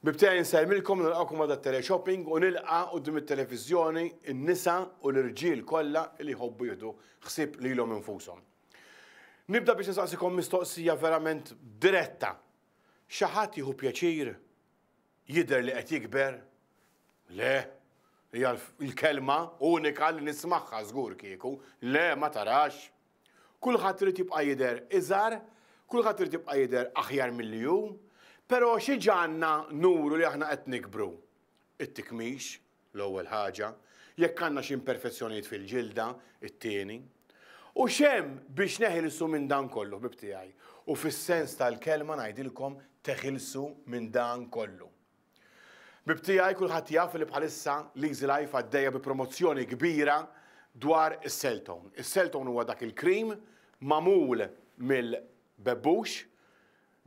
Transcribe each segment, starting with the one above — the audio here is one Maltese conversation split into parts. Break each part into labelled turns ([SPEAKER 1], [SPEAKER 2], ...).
[SPEAKER 1] Ħbieb tiegħi nsellmilkom nilqakom għal teleshopping u nilqa' quddiem it-televiżjoni n-nisa u l-irġiel kollha li jħobbu jieħdu ħsieb lilhom infushom. Nibda biex nistaqsikom mistoqsija verament diretta. Xi ħadd jieħu pjaċir jidher li qed jikber? Le, hija l-kelma unika li nismagħha żgur kieku. Le, ma tarax. Kulħadd irid jibqa' jidher iżgħar, kulħadd irid jibqa' jidher aħjar milli hu, però xi ġanna nuru li aħna qed nikbru? It-tikmix, l-ewwel ħaġa, jekk għandna xi imperfezzjonijiet fil-ġilda, it-tieni. U x'hemm biex neħilsu minn dan kollu, ħbieb tiegħi? U fis-sens tal-kelma ngħidilkom teħilsu minn dan kollu. Ħbieb tiegħi kulħadd jaf li bħalissa l-Easy Life għaddejja bi promozzjoni kbira dwar is-Celltone. Is-Celltone huwa dak il-cream magħmul mill-bebbux.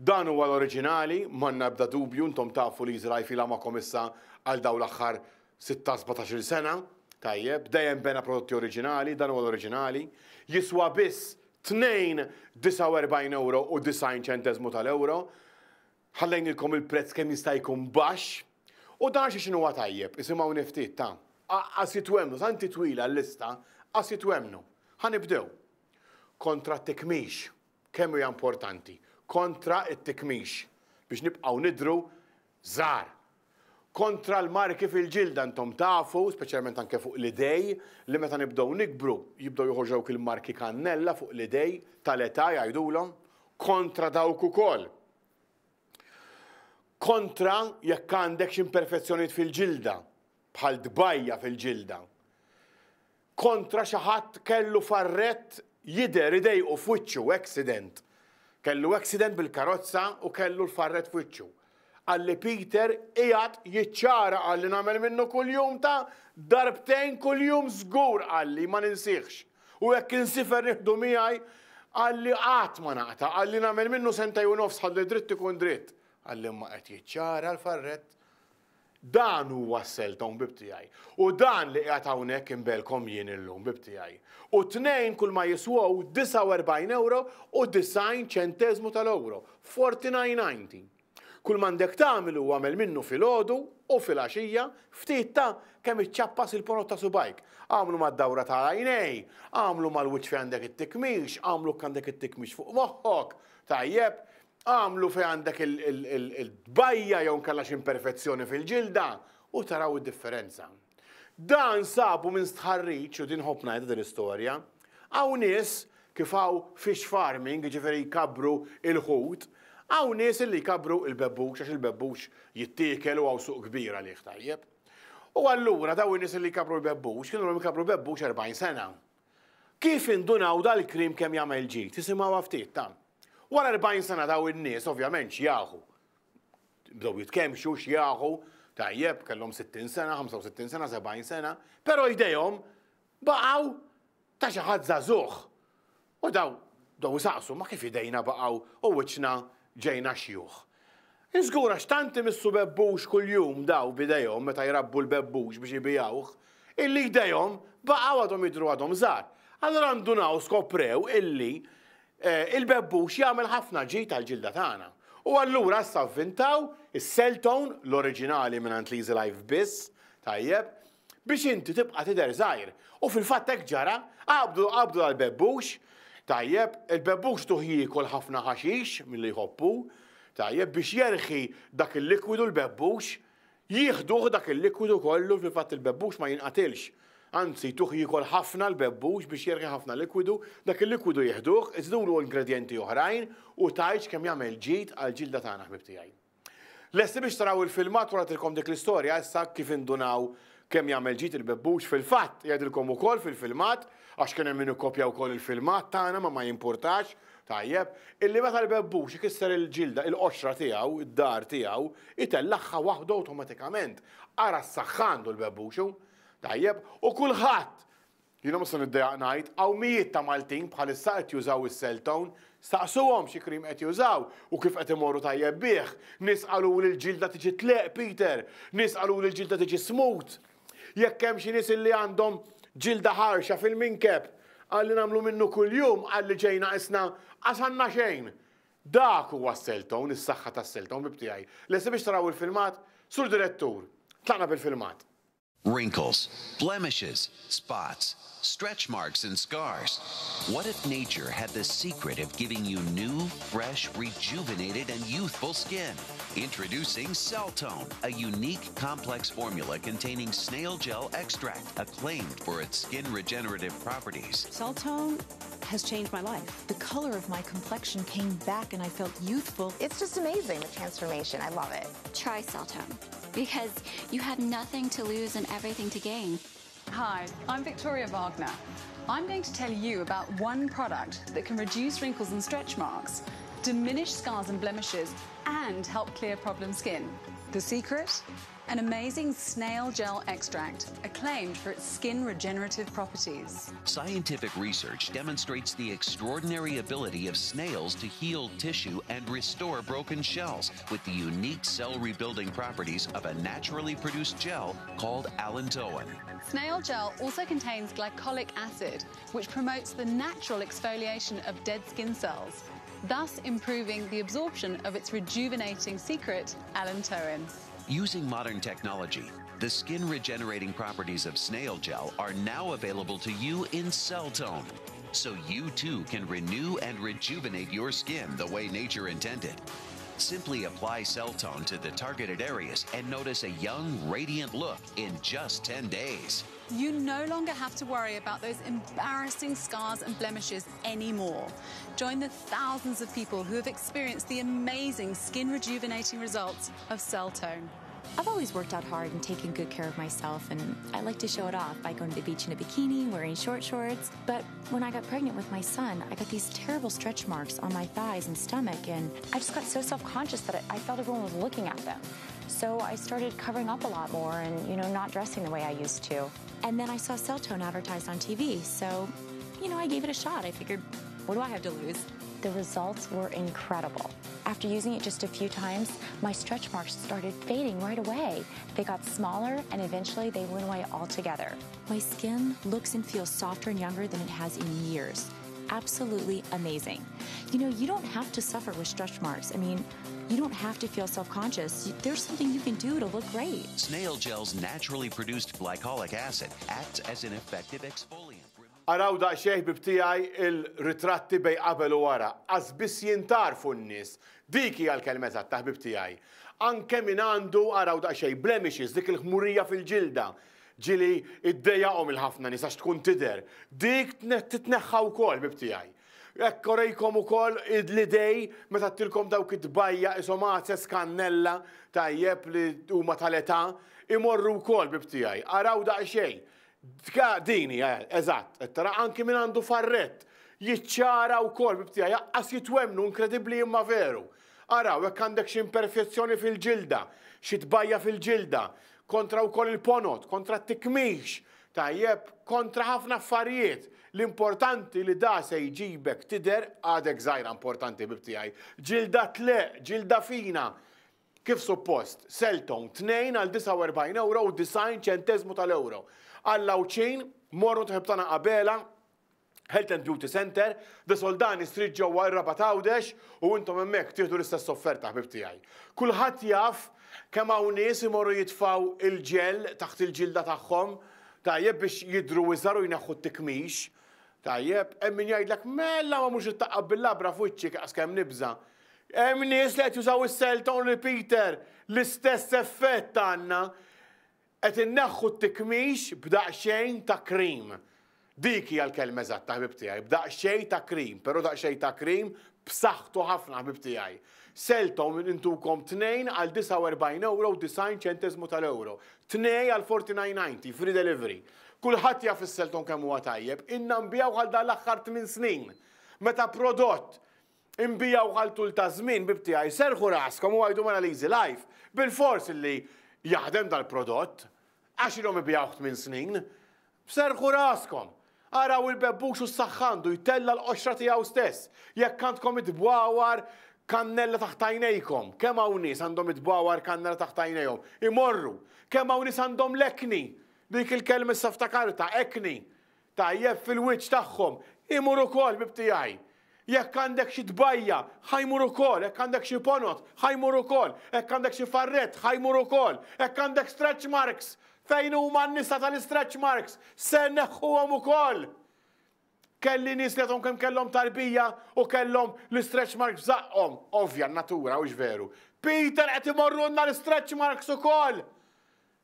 [SPEAKER 1] Dan huwa l-oriġinali, m'għandna ebda dubju, intom tafu l-Easy Life ilha magħkom issa għal dawn l-aħħar 16-17 sena. Tajjeb, dejjem bena prodotti oriġinali, dan huwa l-oriġinali. Jiswa biss 2.49 euro u 90 ċenteżmu tal-euro. Ħallejnilkom il-prezz kemm jista' jkun baxx. U dan xi x'inhuwa tajjeb, isimgħuni ftit ta'. Qas jitwemmnu, tant hi twila l-lista, qas jitwemmnu. Ħa nibdew. Kontra t-tikmix. Kemm hija importanti? Kontra t-tikmix. Biex nibqgħu nidhru żgħar. Kontra l-marki fil-ġilda intom tafu, speċjalment anke fuq l-idej, li meta nibdew nikbru jibdew joħorġu dawk il-marki kannella fuq l-idej tal-età jgħidulhom. Kontra dawk ukoll. Kontra jekk għandek xi imperfezzjonijiet fil-ġilda, bħal tbajja fil-ġilda. Kontra xi ħadd kellu farrett jidher idejqu f'wiċċu, accident. Kellu accident bil-karozza u kellu l-farrett f'wiċċu. Qalli Peter qiegħed jiċċara qalli nagħmel minnu kuljum ta' darbtejn kuljum żgur qalli ma ninsihx. U jekk insifer nieħdu miegħi qalli qatt ma naqta' qalli nagħmel minnu sentej u nofs ħalli dritt ikun dritt. Qalli imma qed jiċċara l-farrett. Dan huwa s-selton ħbieb tiegħi. U dan li qiegħed hawnhekk inbelkom jien illum ħbieb tiegħi. U tnejn kull ma jiswew 49 euro u 90 ċenteżmu tal-euro. 49.90. Kull m'għandek tagħmel huwa agħmel minnu filgħodu u filgħaxija ftit ta' kemm iċċappas il-ponot ta' subgħajk. Agħmlu mad-dawra ta' l-għajnej, agħmlu mal-wiċċ fejn għandek it-tikmix, agħmlu jekk għandek it-tikmix fuq moħħok, tajjeb, agħmlu fejn għandek il-tbajja jew inkella xi imperfezzjoni fil-ġilda u taraw id-differenza. Dan sabu minn stħarriġ, u din nħobb ngħidha din l-istorja, hawn nies kif hawn fish farming, jiġifieri jkabbru l-ħut, hawn nies illi jkabbru l-bebbux għax il-bebbux jittiekel u hawn suq kbir għalih tajjeb. U allura dawn in-nies illi jkabbru l-bebbux kienu ilhom jkabbru l-bebbux 40 sena. Kif indunaw dal-krim kemm jagħmel ġid? Isimgħuha ftit ta. Wara 40 sena dawn in-nies ovvjament xjaħu. Bdew jitkemmxu, xjaħu, tajjeb, kellhom 60 sena, 65 sena, 70 sena, però jdejhom baqgħu ta' xi ħadd żagħżugħ. U daw bdew isaqsu ma kif idejna baqgħu u wiċċna ġejna xjuħ. Iżgur għax tant imissu bebbux kuljum daw b'idejhom meta jrabbu l-bebbux biex ibigħuh, illi jdejhom baqgħu għadhom jidhru għadhom żgħar. Allura ndunaw skoprew illi eh, il-bebbux jagħmel ħafna ġid għall-ġilda tagħna. U allura issa vvintaw is-Celltone, l-oriġinali mingħand l-Easy Life biss, tajjeb, biex inti tibqa' tidher żgħir. U fil-fatt hekk ġara, qabdu qabdu dal-bebbux, tajjeb, il-bebbux tuh jiekol ħafna ħaxix milli jħobb hu, tajjeb, biex jerħi dak il-likwidu l-bebbux, jieħduh dak il-likwidu kollu, fil-fatt il-bebbux ma jinqatilx. Anzi, tuh jiekol ħafna l-bebbux biex jerħi ħafna likwidu, dak il-likwidu jieħduh, iżidulu ingredjenti oħrajn u tgħidx kemm jagħmel ġid għall-ġilda tagħna ħbieb tiegħi. Lesti biex taraw il-filmat wara tilkom dik l-istorja issa kif indunaw kemm jagħmel ġid il-bebbux fil-fatt jgħidilkom ukoll fil-filmat għax kien hemm min ikkopja wkoll il-filmat tagħna ma ma jimpurtax tajjeb illi meta l-bebbux ikisser il-ġilda il-qoxra tiegħu id-dar tiegħu itellagħha waħdu awtomatikament. Ara s-saħħa għandu l-bebbux hu. Tajjeb u kulħadd Jiena mhux se niddejjaq ngħid, hawn mijiet ta' Maltin bħalissa qed jużaw is-Celltone. Staqsuhom xi cream qed jużaw u kif qed imorru tajjeb bih. Nies qaluli l-ġilda tiġi tleqq, Peter. Nies qaluli l-ġilda tiġi smooth. Jekk hemm xi nies illi għandhom ġilda ħarxa fil-minkeb, qalli nagħmlu minnu kuljum, qalli ġejna qisna qas għandna xejn. Dak huwa s-Celltone, is-saħħa tas-Celltone, ħbieb tiegħi. Lesti biex taraw il-filmat? Sur Direttur, tlaqna bil-filmat.
[SPEAKER 2] Wrinkles, blemishes, spots, stretch marks and scars. What if nature had the secret of giving you new, fresh, rejuvenated and youthful skin? Introducing Celltone, a unique complex formula containing snail gel extract, acclaimed for its skin regenerative properties.
[SPEAKER 3] Celltone has changed my life. The color of my complexion came back and I felt youthful.
[SPEAKER 4] It's just amazing, the transformation. I love it.
[SPEAKER 5] Try Celltone, because you have nothing to lose and everything to gain.
[SPEAKER 6] Hi, I'm Victoria Wagner. I'm going to tell you about one product that can reduce wrinkles and stretch marks, diminish scars and blemishes, and help clear problem skin. The secret? An amazing snail gel extract, acclaimed for its skin regenerative properties.
[SPEAKER 2] Scientific research demonstrates the extraordinary ability of snails to heal tissue and restore broken shells with the unique cell rebuilding properties of a naturally produced gel called allantoin.
[SPEAKER 6] Snail gel also contains glycolic acid, which promotes the natural exfoliation of dead skin cells, thus improving the absorption of its rejuvenating secret, allantoin.
[SPEAKER 2] Using modern technology, the skin regenerating properties of snail gel are now available to you in Celltone, so you too can renew and rejuvenate your skin the way nature intended. Simply apply Celltone to the targeted areas and notice a young, radiant look in just 10 days.
[SPEAKER 6] You no longer have to worry about those embarrassing scars and blemishes anymore. Join the thousands of people who have experienced the amazing skin rejuvenating results of Celltone.
[SPEAKER 7] I've always worked out hard and taken good care of myself, and I like to show it off by going to the beach in a bikini, wearing short shorts. But when I got pregnant with my son, I got these terrible stretch marks on my thighs and stomach, and I just got so self-conscious that I felt everyone was looking at them. So I started covering up a lot more and not dressing the way I used to. And then I saw Celltone advertised on TV, so I gave it a shot. I figured, what do I have to lose?
[SPEAKER 4] The results were incredible.
[SPEAKER 7] After using it just a few times, my stretch marks started fading right away. They got smaller, and eventually they went away altogether. My skin looks and feels softer and younger than it has in years. Absolutely amazing. You don't have to suffer with stretch marks. You don't have to feel self-conscious. There's something you can do to look great.
[SPEAKER 2] Snail gel's naturally produced glycolic acid acts as an effective exfoliant.
[SPEAKER 1] Araw daqsxejn ħbieb tiegħi il-ritratti bejn qabel u wara. Qas biss jintarfu n-nies. Dik hija l-kelma eżatta ħbieb tiegħi. Anke min għandu araw daqsxejn blemishes, dik il-ħmurija fil-ġilda. Ġieli iddejjaqhom il-ħafna nies għax tkun tidher. Dik titneħħa wkoll ħbieb tiegħi. Hekk orejkom ukoll l-idej meta tilkom dawk it-tbajja ishom għases kannella tajjeb li huma tal-età imorru wkoll ħbieb tiegħi. Araw daqsxejn. Dini, eżatt, qed tara anki min għandu farrett jiċċara wkoll ħbieb tiegħi, jaqqas jitwemnu inkredibbli imma veru. Araw, jekk għandek xi imperfezzjoni fil-ġilda, xi tbajja fil-ġilda, kontra wkoll il-ponot, kontra t-tikmix, tajjeb, kontra ħafna affarijiet. L-importanti li da se jġibek tidher għadek żgħira importanti ħbieb tiegħi. Ġilda tleq, ġilda fina. Kif suppost, Celltone tnejn għal disgħa u erbgħin euro u disgħin ċenteżmu tal-euro. Għall-Għawdxin, morru tħib tagħna Abela, Health and Beauty Center, The Soldani Street ġewwa ir-Rabat Għawdex u intom hemmhekk tieħdu l-istess offerta ħbieb tiegħi. Kulħadd jaf kemm hawn nies imorru jitfgħu il-ġel taħt il-ġilda tagħhom, tajjeb biex jidhru iżgħar u jneħħu t-tikmix. Tajjeb, hemm min jgħidlek mela ma mhux ittaqqab bil-labra f'wiċċi qas kemm nibża'. Hemm nies li qed jużaw is-Celltone repeater, l-istess effett għandna. Qed inneħħu t-tikmix b'daqsxejn ta' krim. Dik hija l-kelma eżatta ħbieb tiegħi, b'daqsxejn ta' krim, però daqsxejn ta' krim b'saħħtu ħafna ħbieb tiegħi. Celltone intukom tnejn għal disgħa u erbgħin euro u disgħin ċenteżmu tal-euro. Tnej għal 49.90, free delivery. Kulħadd jaf is-Celltone kemm huwa tajjeb, inna nbigħu għal dan l-aħħar 8 snin. Meta prodott inbigħu għal tul ta' żmien ħbieb tiegħi, serħu raskom u għidu mela l-Easy Life, bilfors illi jaħdem dal-prodott, għax ilhom ibigħuh 8 snin. Serħu raskom. Araw il-bebbux u s-saħħa għandu jtella' l-qoxra tiegħu stess. Jekk għandkom id-dwawar kannella taħt għajnejkom, kemm hawn nies għandhom id-dwawar kannella taħt għajnejhom? Imorru. Kemm hawn nies għandhom l-ekni? Dik il-kelma issa ftakarta, ekni. Tajjeb fil-wiċċ tagħhom. Imur ukoll ħbieb tiegħi. Jekk għandek xi tbajja, ħa jmur ukoll, jekk għandek xi ponot, ħa jmur ukoll, jekk għandek xi farrett, ħa jmur ukoll, jekk għandek stretch marks, fejn huma n-nisa tal-istretch marks, se nneħħuhom ukoll. Kelli nies li għadhom kemm kellhom tarbija u kellhom l-istretch marks f'żaqqhom. Ovvja, natura, hux veru. Peter qed imorrulna l-istretch marks ukoll.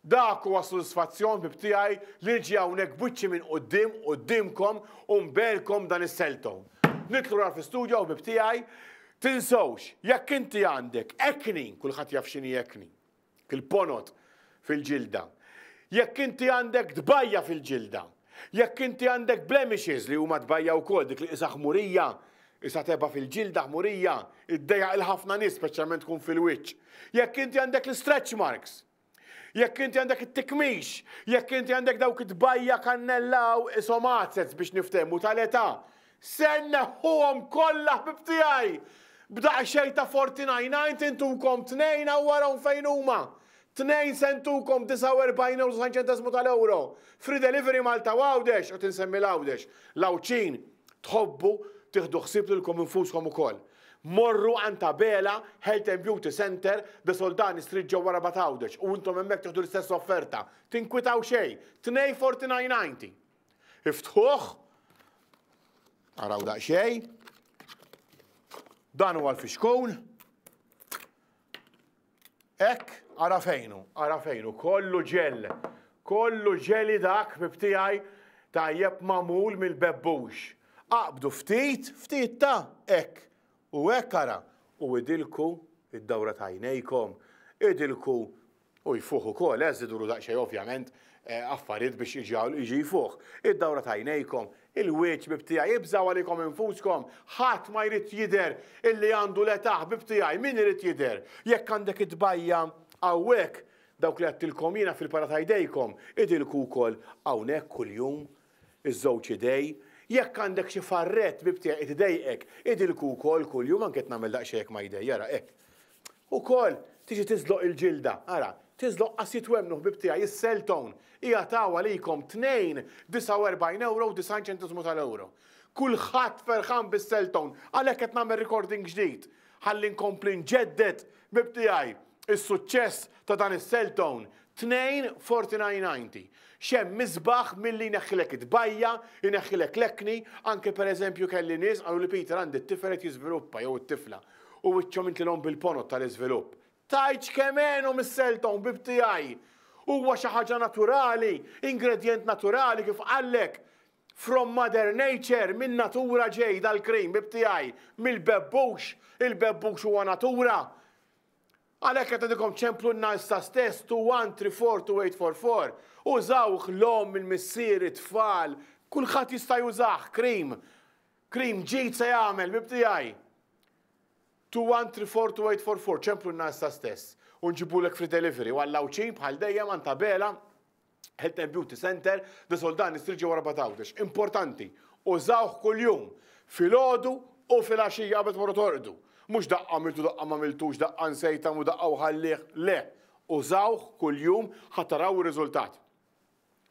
[SPEAKER 1] Dak huwa s-sodisfazzjon ħbieb tiegħi li niġi hawnhekk b'wiċċi minn quddiem quddiemkom u nberkom dan is-celltone. Nidħlu lura fl-istudio ħbieb tiegħi. Tinsewx, jekk inti għandek acne, kulħadd jaf x'inhi acne, il-ponot fil-ġilda. Jekk inti għandek tbajja fil-ġilda, jekk inti għandek blemishes li huma tbajja wkoll dik li qisha ħmurija, qisha tebgħa fil-ġilda ħmurija, iddejjaq 'il ħafna nies speċjalment tkun fil-wiċċ. Jekk inti għandek l-istretch marks, Jekk inti għandek it-tikmix, jekk inti għandek dawk it-tbajja kannella u ishom għazez biex niftehmu tal-età, se nneħħuhom kollha ħbieb tiegħi! B'daqsxejn ta' 49.90 intukom tnejn hawn warahom fejn huma. Tnejn se ntukom 49 ewro 90 ċenteżmu tal-ewro. Free delivery Malta u Għawdex, qed insemmi l-Għawdex. L-Għawdxin tħobbu tieħdu ħsieb lilkom infuskom ukoll. Morru għand Abela Health and Beauty Centre, De Soldani Street ġewwa Rabat Għawdex u intom hemmhekk tieħdu l-istess offerta. Tinkwitaw xejn. Tnejn 49.90. Iftħuh. Araw daqsxejn. Dan huwa l-fixkun. Hekk, ara fejn hu, ara fejn hu, kollu ġell, kollu ġeli dak ħbieb tiegħi tajjeb magħmul mill-bebbux. Aqbdu ftit, ftit ta' hekk, u hekk ara, u idilku id-dawra ta' għajnejkom, idilku u jfuħ ukoll, eh, żidulu daqsxejn ovvjament affarijiet biex jiġi jfuħ. Id-dawra ta' għajnejkom, il-wiċċ ħbieb tiegħi, ibżgħu għalikom infuskom, ħadd ma jrid jidher illi għandu l-età ħbieb tiegħi, min irid jidher? Jekk għandek it-tbajja hawnhekk, dawk li għedtilkom jiena fil-para ta' jdejkom, idilku wkoll hawnhekk kuljum, iż-żewġ idej. Jekk għandek xi farrett ħbieb tiegħi qed idejqek, idilku wkoll kuljum, anke qed nagħmel daqsxejn hekk ma' jdejja, ara hekk. Ukoll, tiġi tiżloq il-ġilda. Ara, tiżloq qas jitwemmnu ħbieb tiegħi, is-Celltone qiegħed hawn għalikom tnejn 49 ewro u 90 ċenteżmu tal-ewro. Kulħadd ferħan bis-Celltone, għalhekk qed nagħmel recording ġdid ħalli nkompli nġedded, ħbieb tiegħi, is-suċċess ta' dan is-Celltone. Tnejn 49.90. X'hemm isbaħ milli jneħħilek it-tbajja, jneħħilek l-acne, anke pereżempju kelli nies qaluli Peter għandi t-tifel qed jiżviluppa jew it-tifla. U wiċċhom intlilhom bil-ponot tal-iżvilupp. Tgħidx kemm għenhom is-Selton ħbieb tiegħi! Huwa xi ħaġa naturali, ingredjent naturali kif qallek. From mother nature, min natura ġej dal-cream ħbieb tiegħi, mill-bebbux, il-bebbux huwa natura. Għalhekk qed ngħidilkom ċemplulna issa stess 21342844. Użawh l-omm, il-missier, it-tfal, kulħadd jista' jużah, cream. Cream ġid se jagħmel, ħbieb tiegħi. 21342844, ċemplulna issa stess u nġibulek free delivery u għall-Għawdxin bħal dejjem għand Abela Health and Beauty Center, De Soldani Street ġewwa Rabat Għawdex. Importanti, użawh kuljum, filgħodu u filgħaxija qabel tmorru torqdu. Mhux daqqa għamiltu daqqa m'għamiltux, daqqa nsejt u daqqa u ħallih, le. Użawh kuljum ħa taraw ir-riżultat.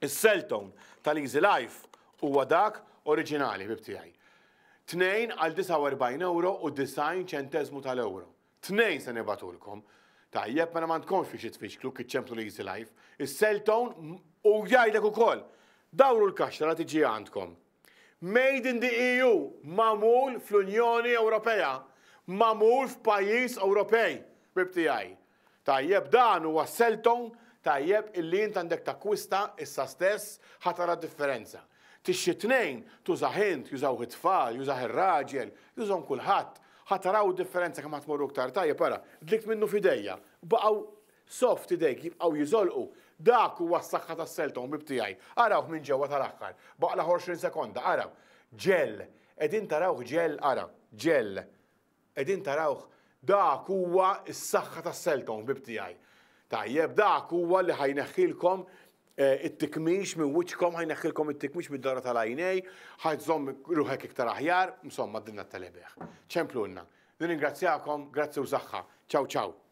[SPEAKER 1] Is-Celltone tal-Easy Life huwa dak oriġinali, ħbieb tiegħi. Tnejn għal 49 ewro u 90 ċenteżmu tal-ewro. Tnejn se nibgħatulkom. Tajjeb, mela m'għandkomx fiex tfixklu kif ċemplu l-Easy Life. Is-Celltone u jgħidlek ukoll, dawru l-kaxxa la tiġi għandkom. Made in the EU, magħmul fl-Unjoni Ewropea, magħmul f'pajjiż Ewropej, ħbieb tiegħi. Tajjeb, dan huwa Selton tajjeb illi int għandek takkwista issa stess ħa tara d-differenza. Tixtri tnejn, tużah int, jużawh it-tfal, jużah ir-raġel, jużahom kulħadd. Ħa taraw id-differenza kemm ħa tmorru iktar tajjeb, ara, dlikt minnu f'idejja, baqgħu soft idejk jibqgħu jiżolqu. Dak huwa s-saħħa tas-Selton, ħbieb tiegħi. Arawh minn ġewwa tal-aħħar. Baqgħla 20 sekonda, araw. Ġell. Qegħdin tarawh ġell, ara, ġell. Qegħdin tarawh? Dak huwa s-saħħa tas-Selton, ħbieb tiegħi. Tajjeb, dak huwa li ħa jneħħilkom eh, it-tikmix minn wiċċkom, ħa jneħħilkom it-tikmix mid-dara tal-għajnej, ħa tżomm ruħek iktar aħjar, insomma, dinna t-telebeħ. Ċemplulna. Nirringrazzjakom, grazzi u saħħa. Ciao ciao.